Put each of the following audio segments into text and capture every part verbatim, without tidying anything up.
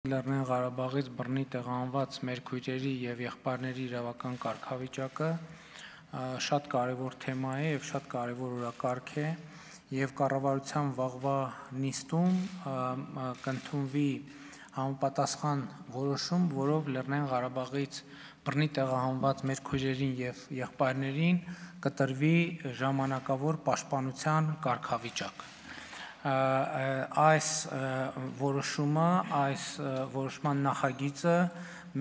Լեռնային Ղարաբաղից բռնի տեղահանված մեր քույրերի եւ եղբայրների իրավական կարգավիճակը շատ կարևոր թեմա է եւ շատ կարևոր օրակարգ է եւ կառավարության վաղվա նիստում կընդունվի համապատասխան որոշում, որով Լեռնային Ղարաբաղից բռնի տեղահանված մեր քույրերին եւ եղբայրներին կտրվի ժամանակավոր պաշտպանության կարգավիճակ։ Այս որոշումը, այս որոշման նախագիծը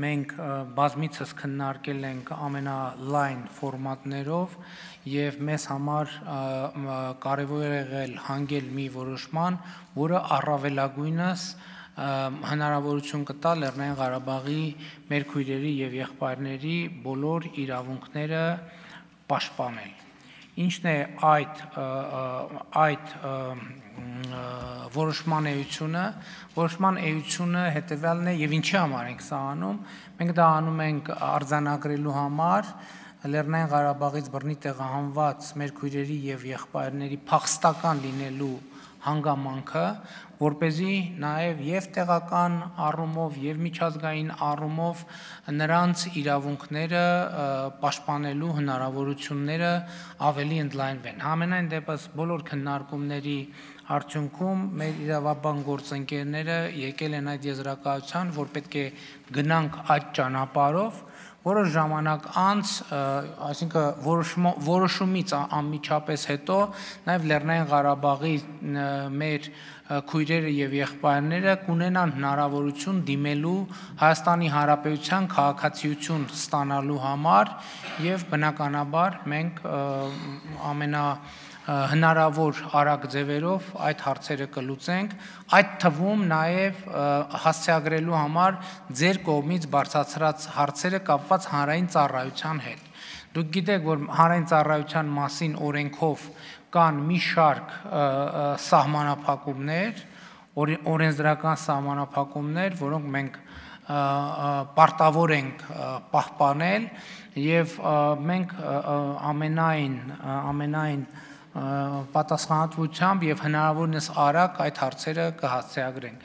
մենք բազմիցս քննարկել ենք ամենալայն ֆորմատներով եւ մեզ համար կարեւոր է եղել հանգել մի որոշման, որը առավելագույնս հնարավորություն կտա Լեռնային Ղարաբաղի մեր քույրերի եւ եղբայրների բոլոր իրավունքները պաշտպանել։ Ինչն է այդ այդ որոշման էությունը, որոշման էությունը հետևյալն է եւ ինչի համար ենք սա անում, մենք դա անում ենք արձանագրելու համար Լեռնային Ղարաբաղից բռնի տեղահանված մեր քույրերի եւ եղբայրների փախստական լինելու հանգամանքը, որպեսզի նաեւ եւ տեղական առումով եւ միջազգային առումով նրանց իրավունքները պաշտպանելու հնարավորությունները ավելի ընդլայնվեն։ Համենայն դեպս բոլոր քննարկումների արդյունքում մեր իրավաբան գործընկերները եկել են այդ եզրակացության, որ պետք է գնանք այդ ճանապարհով, որոշ ժամանակ անց, այսինքն որոշումից անմիջապես հետո նաև Լեռնային Ղարաբաղի մեր քույրերը եւ եղբայրները կունենան հնարավորություն դիմելու Հայաստանի Հանրապետության քաղաքացիություն ստանալու համար եւ բնականաբար մենք ամենա հնարավոր արագ ձևերով այդ հարցերը կլուծենք, այդ թվում նաև հասցեագրելու համար ձեր կողմից բարձրացրած հարցերը կապված հանրային ծառայության հետ։ Դուք գիտեք, որ հանրային ծառայության մասին օրենքով կան մի շարք սահմանափակումներ, օրենսդրական սահմանափակումներ, որոնք մենք պարտավոր ենք պահպանել եւ մենք ամենայն ամենայն պատասխանատվությամբ եւ հնարավորինս արագ այդ հարցերը կհասցեագրենք։